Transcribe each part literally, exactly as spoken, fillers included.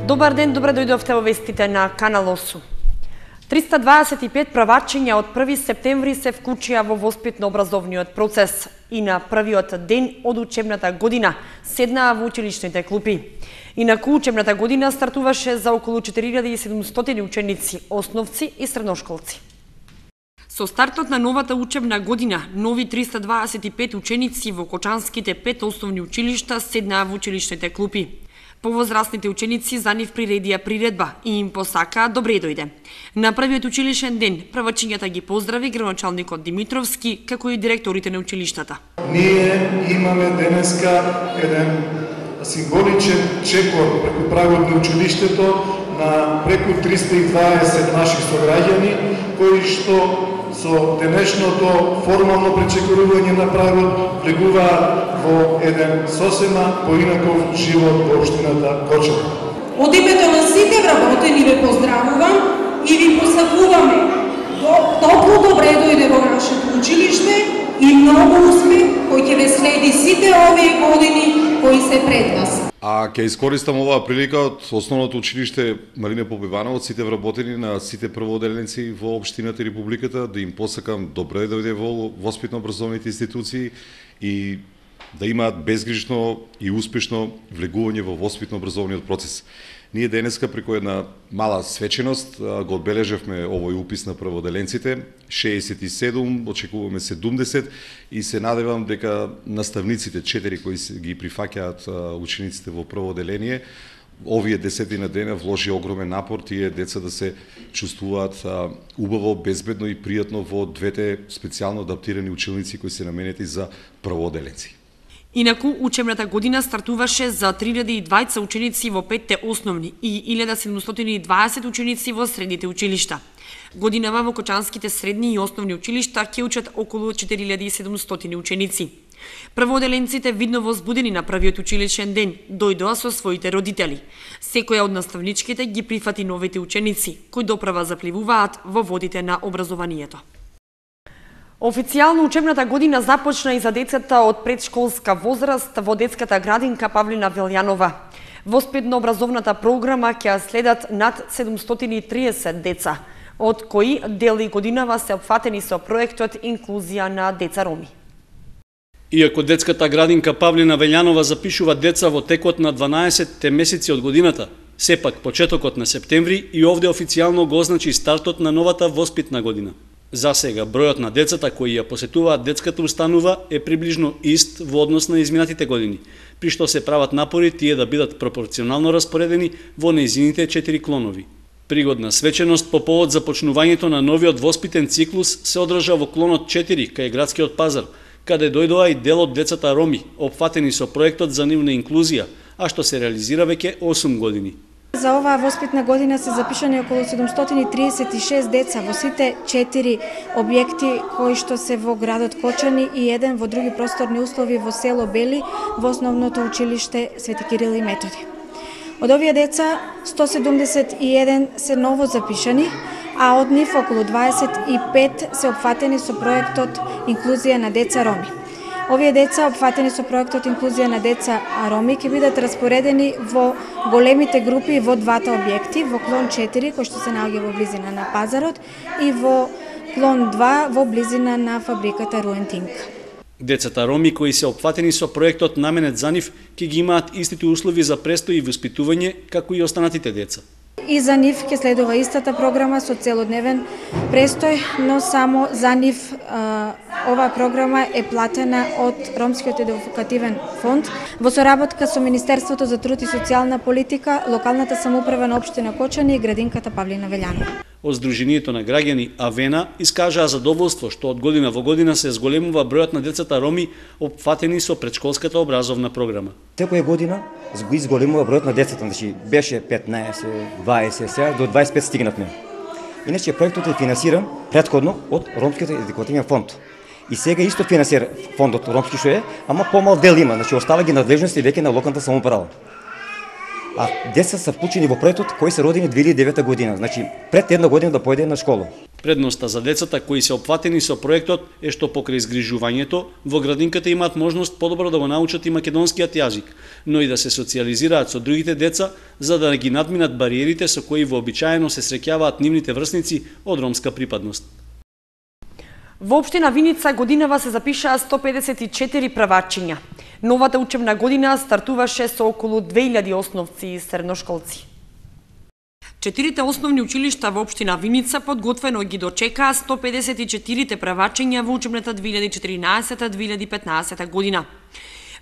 Добар ден, добре дојдовте во вестите на Канал осум. триста дваесет и пет правачиња од први септември се вклучија во воспитно-образовниот процес и на првиот ден од учебната година седнаа во училишните клупи. Инаку учебната година стартуваше за околу четири илјади и седумстотини ученици, основци и средношколци. Со стартот на новата учебна година, нови триста дваесет и пет ученици во кочанските пет основни училишта седнаа во училишните клупи. Повозрастните ученици за нив приредија приредба и им посакаа добре дојде. На првиот училишен ден правачињата ги поздрави градоначалникот Димитровски, како и директорите на училиштата. Ние имаме денеска еден символичен чекор преку прагот на училиштето на преку триста и дваесет наши сограѓани, кои што со денешното формално пречекорување на прагот влегуваат во еден сосема поинаков живот во општината Кочани. Од името на сите вработени ве поздравувам и ви посакуваме топло добре дојде во нашето училиште и многу успех кој ќе ве следи сите овие години кои се пред вас. А ќе искористам оваа прилика од основното училиште Марине Попивановиќ, сите вработени на сите првооделеници во општината и републиката, да им посакам добре дојде во воспитно-образовните институции и да имаат безгрижно и успешно влегување во воспитно-образовниот процес. Ние денеска преку една мала свеченост го одбележавме овој упис на првооделенците, шеесет и седум, очекуваме седумдесет и се надевам дека наставниците четири кои ги прифаќаат учениците во првооделение, овие десетина дена вложи огромен напор тие деца да се чувствуваат убаво, безбедно и пријатно во двете специјално адаптирани училници кои се наменети за првооделенци. Инаку, учебната година стартуваше за три илјади и дваесет ученици во петте основни и илјада седумстотини и дваесет ученици во средните училишта. Годинава во кочанските средни и основни училишта ќе учат околу четири илјади и седумстотини ученици. Првооделенците видно возбудени на првиот училишен ден дојдоа со своите родители. Секоја од наставничките ги прифати новите ученици, кои доправа запливуваат во водите на образованието. Официјално учебната година започна и за децата од предшколска возраст во детската градинка Павлина Велјанова. Воспитно-образовната програма ќе следат над седумстотини и триесет деца, од кои дели годинава се опфатени со проектот Инклузија на деца роми. Иако детската градинка Павлина Велјанова запишува деца во текот на дванаесетте месеци од годината, сепак почетокот на септември и овде официјално го означи стартот на новата воспитна година. За сега, бројот на децата кои ја посетуваат детската установа е приближно ист во однос на изминатите години, при што се прават напори тие да бидат пропорционално распоредени во нејзините четири клонови. Пригодна свеченост по повод започнувањето на новиот воспитен циклус се одржа во клонот четири кај градскиот пазар, каде дојдоа и дел од децата роми, опфатени со проектот за нивна инклузија, а што се реализира веќе осум години. За оваа воспитна година се запишани околу седумстотини и триесет и шест деца во сите четири објекти кои што се во градот Кочани и еден во други просторни услови во село Бели во основното училиште Свети Кирил и Методи. Од овие деца сто седумдесет и еден се ново запишани, а од нив околу дваесет и пет се опфатени со проектот Инклузија на деца роми. Овие деца, опфатени со проектот Инклузија на деца роми, ќе бидат распоредени во големите групи во двата објекти, во клон четири, кој што се наоѓа во близина на пазарот, и во клон два, во близина на фабриката Руентинг. Децата роми кои се опфатени со проектот наменет за нив ќе ги имаат истите услови за престој и воспитување како и останатите деца. И за нив ќе следува истата програма со целодневен престој, но само за нив а, оваа програма е платена од Ромскиот едукативен фонд во соработка со Министерството за труд и социјална политика, локалната самоуправа на општина Кочани и градинката Павлина Велјанова. Од Сдруженијето на граѓани Авена искажаа задоволство што од година во година се зголемува бројот на децата роми опфатени со предшколската образовна програма. Секоја година го изголемува бројот на децата, значи беше петнаесет, дваесет, сега до дваесет и пет стигнатме. Иначе проектот е финансиран претходно од Ромскиот едукативен фонд. И сега исто финансира фондот ромски што е, ама помал дел има, значи остава ги надлежности веќе на локалната самоуправа. А деца се вклучени во проектот кои се родени две илјади и девета година, значи пред една година да појде на школа. Предноста за децата кои се опфатени со проектот е што покрај згрижувањето во градинката имаат можност подобро да го научат и македонскиот јазик, но и да се социјализираат со другите деца за да ги надминат бариерите со кои вообичаено се среќаваат нивните врсници од ромска припадност. Во општина Виница годинава се запишаа сто педесет и четири правачиња. Новата учебна година стартуваше со околу две илјади основци и средношколци. Четирите основни училишта во општина Виница подготвено ги дочекаа сто педесет и четири правачиња во учебната две илјади и четиринаесета две илјади и петнаесета година.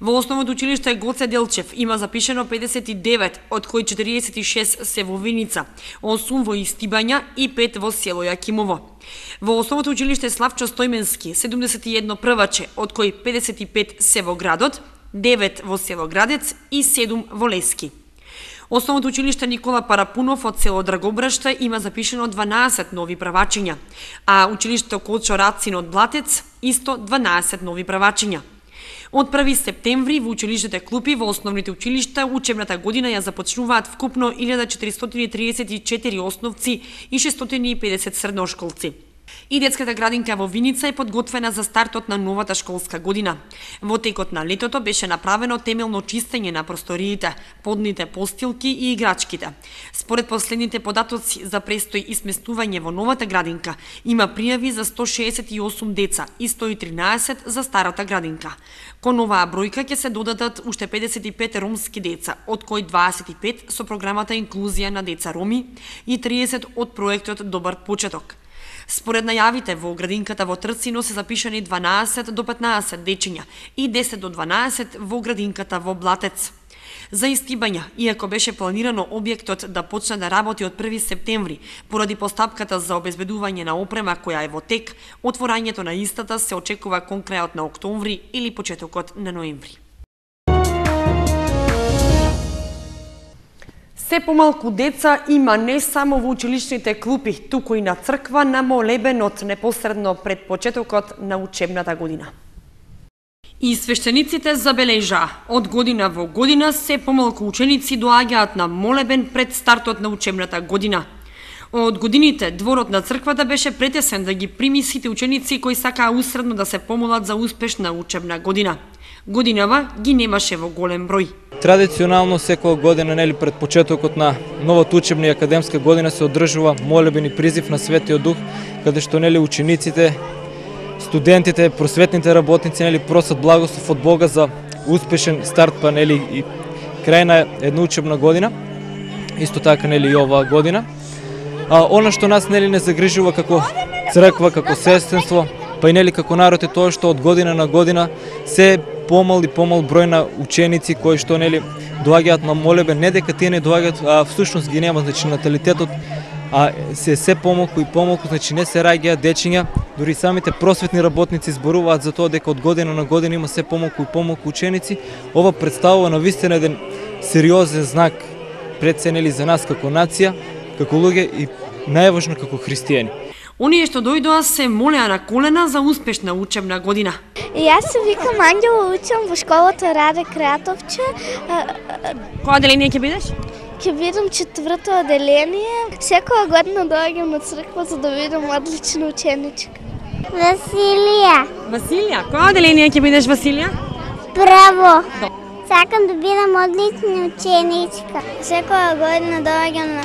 Во основното училиште Гоце Делчев има запишено педесет и девет, од кои четириесет и шест се во Виница, осум во Истибања и пет во село Јакимово. Во основното училиште Славчо Стојменски седумдесет и едно прваче, од кои педесет и пет се во градот, девет во село Градец и седум во Лески. Основното училиште Никола Парапунов од село Драгобраште има запишено дванаесет нови правачиња, а училиште Кочо Рацин од Блатец исто дванаесет нови правачиња. Од први септември во училиштите клупи во основните училишта учебната година ја започнуваат вкупно илјада четиристотини триесет и четири основци и шестстотини и педесет средношколци. И детската градинка во Виница е подготвена за стартот на новата школска година. Во текот на летото беше направено темелно чистење на просториите, подните постилки и играчките. Според последните податоци за престој и сместување во новата градинка, има пријави за сто шеесет и осум деца и сто и тринаесет за старата градинка. Кон оваа бројка ќе се додадат уште педесет и пет ромски деца, од кои дваесет и пет со програмата Инклузија на деца роми и триесет од проектот Добар почеток. Според најавите во градинката во Трцино се запишани дванаесет до петнаесет дечиња и десет до дванаесет во градинката во Блатец. За Истибања, иако беше планирано објектот да почне да работи од први септември, поради постапката за обезбедување на опрема која е во тек, отворањето на истата се очекува кон крајот на октомври или почетокот на ноември. Се помалку деца има не само во училишните клупи, туку и на црква на молебенот непосредно пред почетокот на учебната година. И свештениците забележаа, од година во година се помалку ученици доаѓаат на молебен пред стартот на учебната година. Од годините дворот на црквата беше претесен да ги прими сите ученици кои сакаа усредно да се помолат за успешна учебна година. Годинава ги немаше во голем број. Традиционално секоја година, нели пред почетокот на новата учебна и академска година се одржува молебен и призив на Светиот Дух, каде што нели учениците, студентите, просветните работници нели просат благослов од Бога за успешен старт па нели и крај на една учебна година. Исто така нели и оваа година. А она што нас нели не загрижува како црква, како сестринство, па и нели како народ е тоа што од година на година се помал и помал број на ученици кои што нели доаѓаат на молебен, не дека тие не доаѓаат, а всушност ги нема, значи наталитетот а се се помалку и помалку, значи не се раѓаат дечиња, дури самите просветни работници зборуваат за тоа дека од година на година има се помалку и помалку ученици. Ова представува навистина еден сериозен знак пред се нели за нас како нација, како луѓе и најважно како христијани. Оние што дојдоа се молеа на колена за успешна учебна година. И јас се викам Ангела, учам во школата Раде Кратовче. Која оделение ќе бидеш? Ќе бидам четврто оделение. Секоја година доаѓам на црква за да видам одлична ученичка. Василија. Василија, која оделение ќе бидеш, Василија? Право. Сакам да бидам одлична ученичка. Секоја година доаѓам на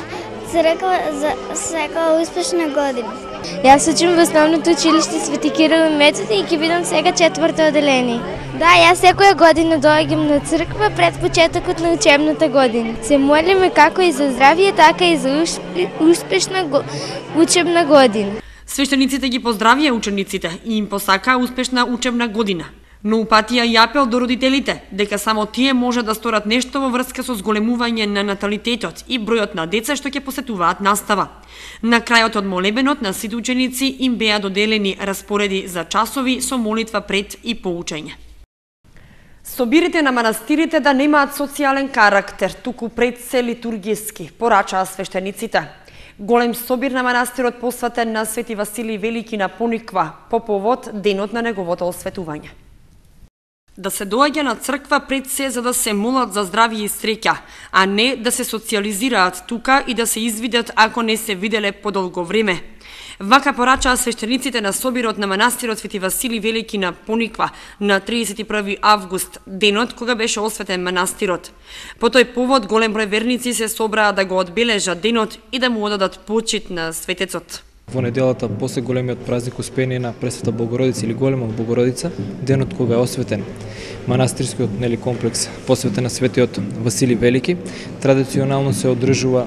црква за секоја успешна година. Јас учам во основното училиште Свети Кирил и Методи и ќе бидам сега четврто оделение. Да, јас секоја година доаѓам на црква пред почетокот на учебната година. Се молиме како и за здравје, така и за успешна го... учебна година. Свештениците ги поздравија учениците и им посакаа успешна учебна година. Но упатија и апел до родителите, дека само тие може да сторат нешто во врска со зголемување на наталитетот и бројот на деца што ќе посетуваат настава. На крајот од молебенот на сите ученици им беа доделени распореди за часови со молитва пред и по учење. Собирите на манастирите да немаат социјален карактер, туку пред се литургиски, порачаа свештениците. Голем собир на манастирот посветен на Свети Василий Велики на Пониква по повод денот на неговото осветување. Да се доаѓа на црква пред се за да се молат за здравје и среќа, а не да се социјализираат тука и да се извидат ако не се виделе подолго време. Вака порачаа свештениците на собирот на манастирот Свети Василий Велики на Пониква на триесет и први август, денот кога беше осветен манастирот. По тој повод голем број верници се собраа да го одбележат денот и да му одадат почит на светецот. Во неделата, после големиот празник Успение на Пресвета Богородица или Голема Богородица, денот кога е осветен манастирскиот нели комплекс посветен на Светиот Василий Велики, традиционално се одржува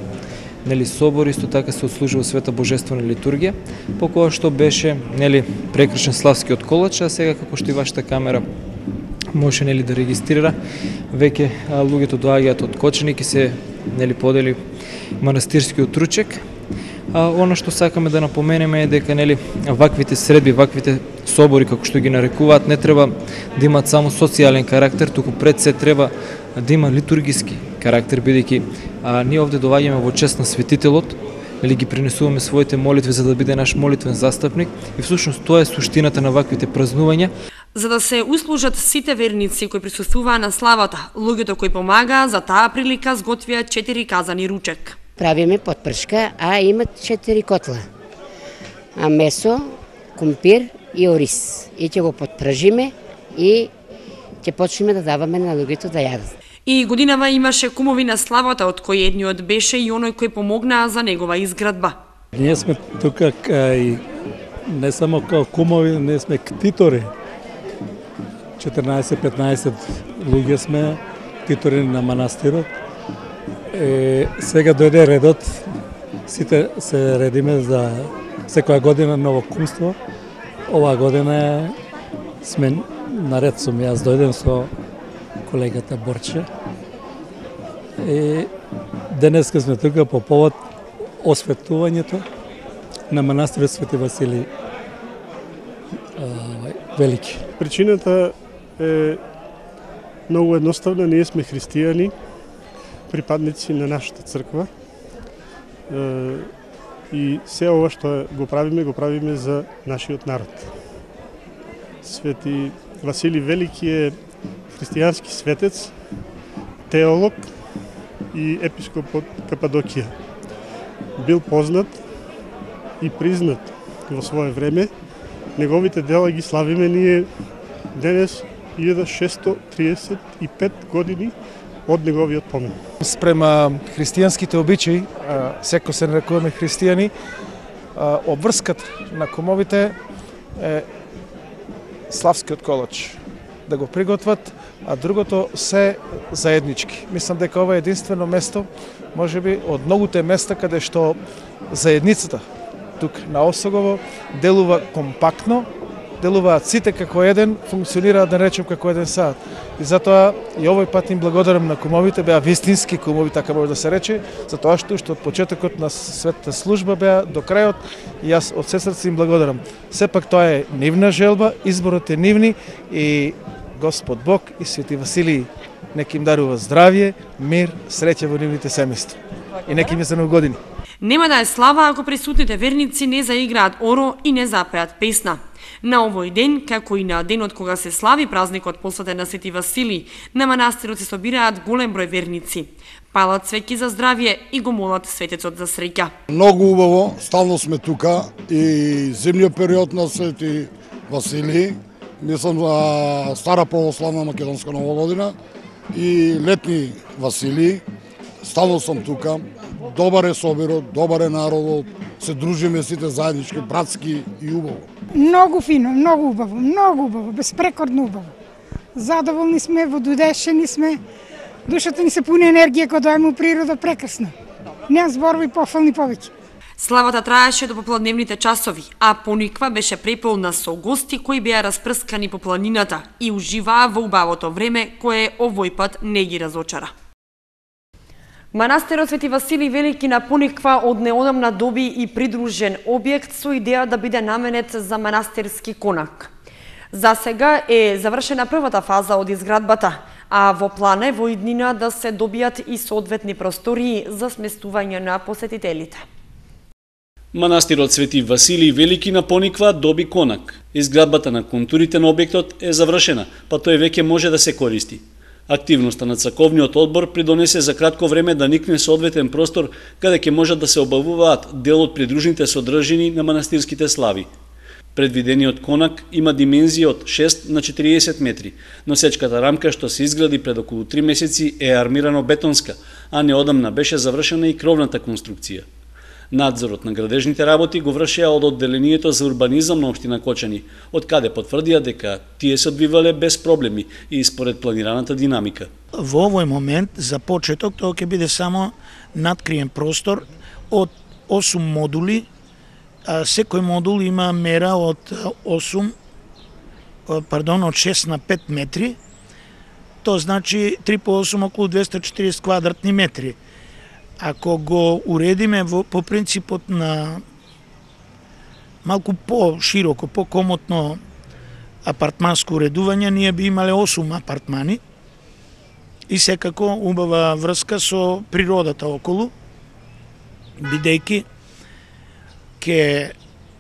нели собор, исто така се отслужува света божествена литургија, по која што беше нели прекршен славскиот колач, а сега како што и вашата камера може нели да регистрира, веќе луѓето доаѓаат од Кочани, ки се нели подели манастирскиот ручек. А, оно што сакаме да напоменеме е дека нели ваквите средби, ваквите собори како што ги нарекуваат, не треба да имаат само социјален карактер, туку пред се треба да има литургиски карактер, бидејќи ние овде доаѓаме во чест на светителот, или ги принесуваме своите молитви за да биде наш молитвен застапник, и всушност тоа е суштината на ваквите празнувања. За да се услужат сите верници кои присуствуваа на славата, луѓето кои помагаа за таа прилика сготвија четири казани ручек. Правиме подпршка, а има четири котла. А месо, кумпир и ориз. И ќе го подпржиме и ќе почнеме да даваме на луѓето да јадат. И годинава имаше кумови на славата, од кои едниот беше и оној кој помогнаа за негова изградба. Ние сме тука и не само као кумови, не сме ктитори. четрнаесет-петнаесет луѓе сме ктитори на манастирот. Е, сега дојде редот, сите се редиме за секоја година ново кумство. Оваа година сме наред сум, јас дојдем со колегата Борче. И денеска сме тука по повод осветувањето на манастирот Свети Василий Велики. Причината е многу едноставна, ние сме христијани, припадници на нашата црква, и се ова што го правиме, го правиме за нашиот народ. Свети Василий Велики е христијански светец, теолог и епископ од Кападокија. Бил познат и признат во свое време. Неговите дела ги славиме ние денес илјада шестстотини триесет и пет години од неговиот помен. Спрема христијанските обичаи, секој се нарекуваме христијани, обврскат на кумовите е славскиот колач да го приготват, а другото се заеднички. Мислам дека ова е единствено место, можеби од многуте места каде што заедницата тук на Осогово делува компактно, делуваат сите како еден, функционираат, да речем, како еден сад. И затоа и овој пат им благодарам на кумовите, беа вистински кумови, така може да се рече, затоа што уште од почетокот на светата служба беа до крајот, и јас од се срце им благодарам. Сепак тоа е нивна желба, изборот е нивни, и Господ Бог и Свети Василий нека им дарува здравје, мир, среќа во нивните семејства. И нека им е за нови години. Нема да е слава ако присутните верници не заиграат оро и не запеат песна. На овој ден, како и на денот кога се слави празникот посветен на Свети Василий, на манастирот се собираат голем број верници. Палат свеќи за здравје и го молат светецот за среќа. Многу убаво, стално сме тука, и зимниот период на Свети Василий, мислам за стара православна македонска нова година, и летни Василий, стално сум тука. Добар е собирот, добар е народот, се дружиме сите заеднички, братски и убаво. Многу фино, многу убаво, многу убаво, безпрекорно убаво. Задоволни сме, вододешени сме, душата ни се пуни енергија кога доаѓаме у природа, прекрасно. Немам зборови пофални повеќе. Славата траеше до попладневните часови, а Пониква беше преполна со гости кои беа распрскани по планината и уживаа во убавото време кое овој пат не ги разочара. Манастирот Свети Василий Велики на Пониква од неодамна доби и придружен објект со идеја да биде наменет за манастирски конак. За сега е завршена првата фаза од изградбата, а во план е во иднина да се добијат и соодветни простории за сместување на посетителите. Манастирот Свети Василий Велики на Пониква доби конак. Изградбата на контурите на објектот е завршена, па тој веќе може да се користи. Активноста на црковниот одбор придонесе за кратко време да никне соодветен простор каде ќе можат да се обавуваат дел од придружните содржини на манастирските слави. Предвидениот конак има димензија од шест на четириесет метри, но сечката рамка што се изгради пред околу три месеци е армирано бетонска, а неодамна беше завршена и кровната конструкција. Надзорот на градежните работи го вршеа од одделението за урбанизам на општина Кочани, од каде потврдија дека тие се одвивале без проблеми и според планираната динамика. Во овој момент за почеток тоа ќе биде само надкриен простор од осум модули. Секој модул има мера од осум, пардон, од шест на пет метри. Тоа значи три по осум околу двесте и четириесет квадратни метри. Ако го уредиме во, по принципот на малку по-широко, по-комотно апартманско уредување, ние би имале осум апартмани и секако убава врска со природата околу, бидејќи ке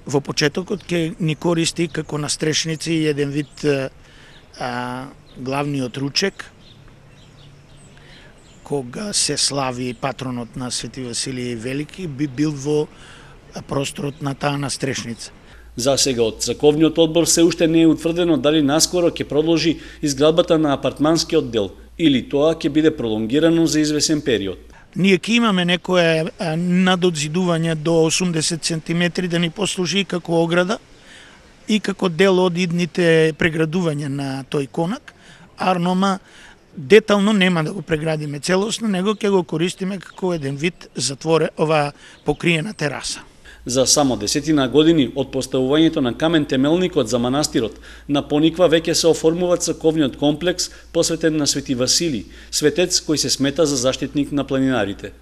во почетокот ќе ни користи како настрешници и еден вид а, главниот ручек, кога се слави патронот на Свети Василиј Велики, би бил во просторот на таа настрешница. За сега од црковниот одбор се уште не е утврдено дали наскоро ќе продолжи изградбата на апартманскиот дел или тоа ќе биде пролонгирано за извесен период. Ние ќе имаме некое надодзидување до осумдесет сантиметри да ни послужи како ограда и како дел од идните преградувања на тој конак, арнома детално нема да го преградиме целосно, него ќе го користиме како еден вид затворе ова покриена тераса. За само десетина години од поставувањето на камен темелникот за манастирот, на Пониква веќе се оформува црковниот комплекс посветен на Свети Василий, светец кој се смета за заштитник на планинарите.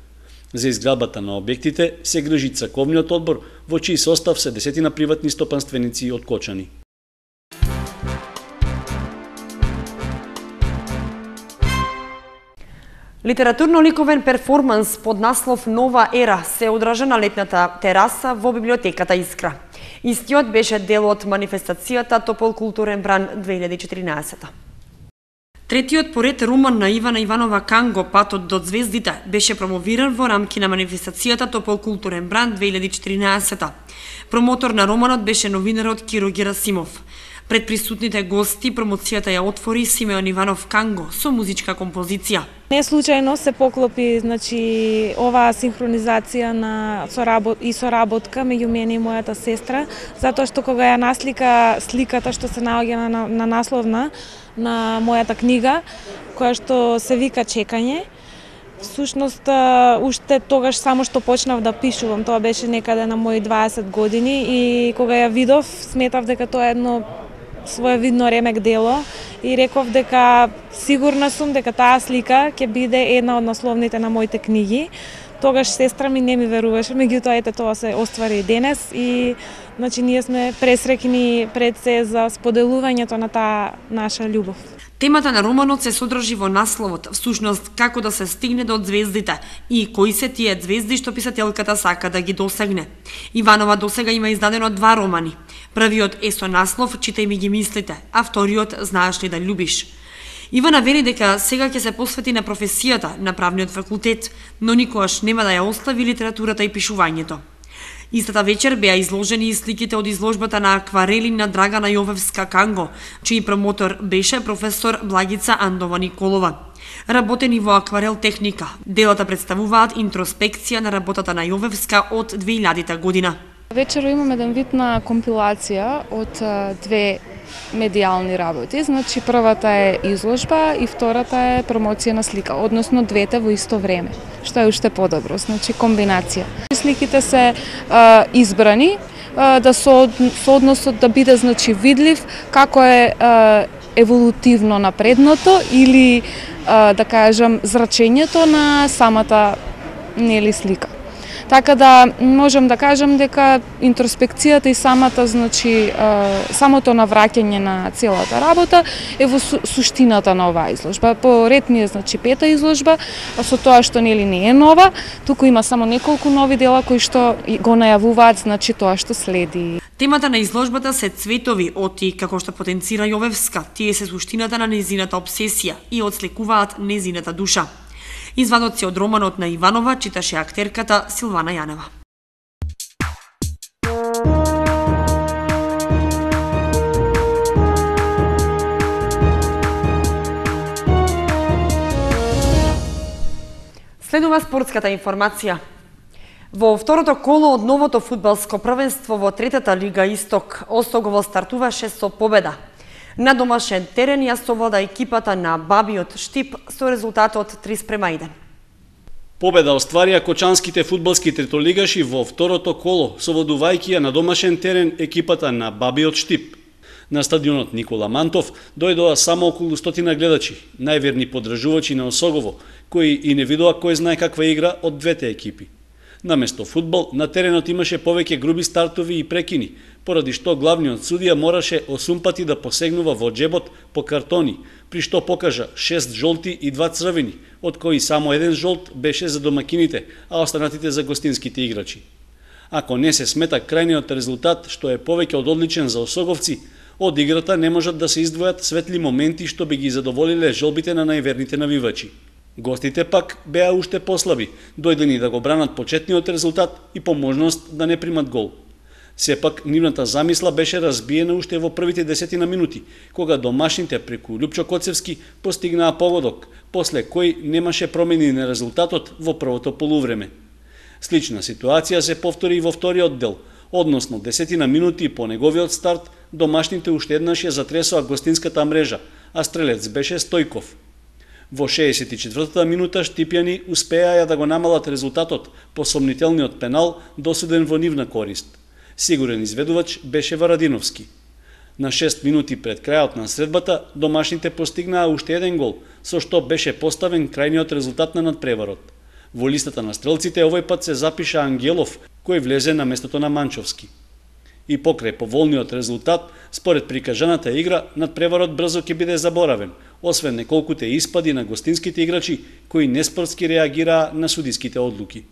За изградбата на објектите се грижи црковниот одбор, во чиј состав се десетина приватни стопанственици од Кочани. Литературно-ликовен перформанс под наслов Нова ера се одржа на летната тераса во библиотеката Искра. Истиот беше дел од манифестацијата Топол културен бран две илјади и четиринаесета. Третиот поред роман на Ивана Иванова Канго, Патот до звездите, беше промовиран во рамки на манифестацијата Топол културен бран две илјади и четиринаесета. Промотор на романот беше новинарот Киро Герасимов. Пред присутните гости промоцијата ја отвори Симеон Иванов Канго со музичка композиција. Не случајно се поклопи, значи, оваа синхронизација на соработ и соработка меѓу мене и мојата сестра, затоа што кога ја наслика сликата што се наоѓа на, на насловна на мојата книга, која што се вика Чекање, всушност уште тогаш само што почнав да пишувам, тоа беше некаде на мои дваесет години и кога ја видов, сметав дека тоа е едно своевидно ремек дело и реков дека сигурна сум дека таа слика ќе биде една од насловните на моите книги. Тогаш сестра ми не ми веруваше, меѓутоа ете тоа се оствари и денес и значи ние сме пресрекни пред се за споделувањето на таа наша љубов. Темата на романот се содржи во насловот, всушност како да се стигне до звездите и кои се тие звезди што писателката сака да ги досегне. Иванова досега има издадено два романи. Првиот е со наслов Читај ми ги мислите, а вториот Знаеш ли да љубиш. Ивана вели дека сега ќе се посвети на професијата на правниот факултет, но никогаш нема да ја остави литературата и пишувањето. Истата вечер беа изложени и сликите од изложбата на акварели на Драгана Јовевска Канго, чиј промотор беше професор Благица Андова Николова. Работени во акварел техника, делата представуваат интроспекција на работата на Јовевска од две илјадата година. Вечер имаме еден вид на компилација од две медијални работи. Значи првата е изложба и втората е промоција на слика, односно двете во исто време, што е уште подобро, значи комбинација. Сликите се а, избрани а, да со, со односот да биде значи видлив како е а, еволутивно напредното или а, да кажам зрачењето на самата нели слика. Така да можам да кажам дека интроспекцијата и самата значи самото навраќање на целата работа е во суштината на оваа изложба. По ред ми е значи пета изложба, а со тоа што нели не е нова, туку има само неколку нови дела кои што го најавуваат значи тоа што следи. Темата на изложбата се цветови оти, како што потенцира Јовевска, тие се суштината на незината обсесија и отсликуваат незината душа. Извадоци од романот на Иванова читаше актерката Силвана Јанева. Следува спортската информација. Во второто коло од новото фудбалско првенство во третата лига Исток, Остогово стартуваше со победа. На домашен терен ја совлада екипата на Бабиот Штип со резултатот три спрема еден. Победа остварија кочанските фудбалски третолигаши во второто коло, совладувајќи ја на домашен терен екипата на Бабиот Штип. На стадионот Никола Мантов дојдоа само околу стотина гледачи, најверни поддржувачи на Осогово, кои и не видоа кој знае каква игра од двете екипи. Наместо фудбал, на теренот имаше повеќе груби стартови и прекини, поради што главниот судија мораше осум пати да посегнува во џебот по картони, при што покажа шест жолти и два црвени, од кои само еден жолт беше за домакините, а останатите за гостинските играчи. Ако не се смета крајниот резултат, што е повеќе од одличен за осоговци, од играта не можат да се издвојат светли моменти што би ги задоволиле жолбите на најверните навивачи. Гостите пак беа уште послаби, дојдени да го бранат почетниот резултат и по можност да не примат гол. Сепак, нивната замисла беше разбиена уште во првите десетина минути, кога домашните преку Лјупчо Коцевски постигнаа погодок, после кој немаше промени на резултатот во првото полувреме. Слична ситуација се повтори и во вториот дел, односно десетина минути по неговиот старт, домашните уште еднаш ја затресоа гостинската мрежа, а стрелец беше Стојков. Во шеесет и четвртата минута штипјани успеаја да го намалат резултатот по сомнителниот пенал досуден во нивна корист. Сигурен изведувач беше Варадиновски. На шест минути пред крајот на средбата домашните постигнаа уште еден гол, со што беше поставен крајниот резултат на надпреварот. Во листата на стрелците овој пат се запиша Ангелов, кој влезе на местото на Манчовски. И покрај поволниот резултат, според прикажаната игра, надпреварот брзо ќе биде заборавен, освен неколкуте испади на гостинските играчи кои неспортски реагираа на судиските одлуки.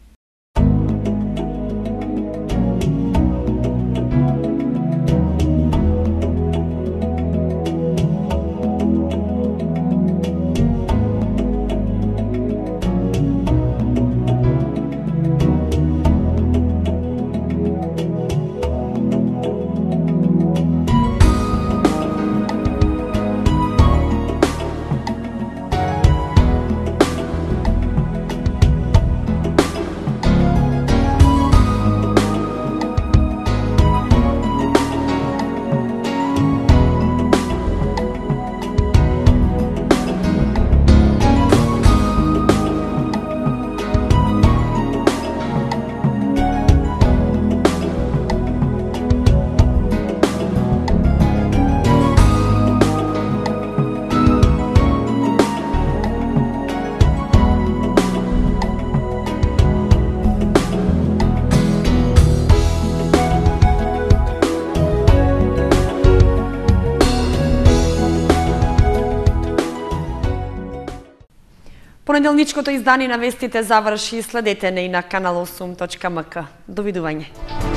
Понеделничкото издание на вестите заврши, следете не и на канал осум точка ем ка. Довидување.